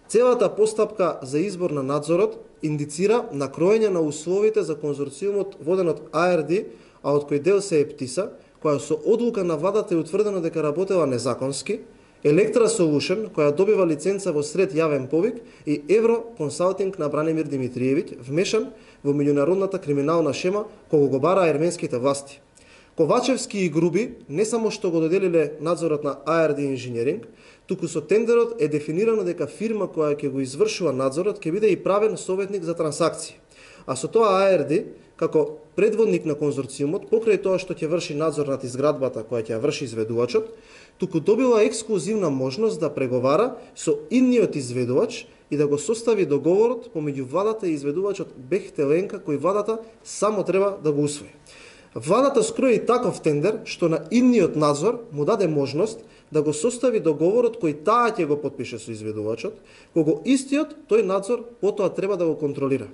Целата постапка за избор на надзорот индицира на кроење на условите за конзорциумот воден од АРД, а од кој дел се е ПТИСА, која со одлука на владата е утврдено дека работела незаконски, Електра Solution, која добива лиценца во сред јавен повик, и Евро Консалтинг на Бранимир Димитриевиќ, вмешан во меѓународната криминална шема кога го бараа ерменските власти. Ковачевски и Груби не само што го доделиле надзорот на АРД Инженеринг, туку со тендерот е дефинирано дека фирма која ќе го извршува надзорот ќе биде и правен советник за трансакции. А со тоа АРД, како предводник на конзорциумот, покрај тоа што ќе врши надзор над изградбата која ќе ја врши изведувачот, туку добила ексклузивна можност да преговара со идниот изведувач и да го состави договорот помеѓу владата и изведувачот Бехтеленка, кој владата само треба да го усвои. Владата скрои таков тендер што на идниот надзор му даде можност да го состави договорот кој таа ќе го потпише со изведувачот, кога истиот тој надзор потоа треба да го контролира.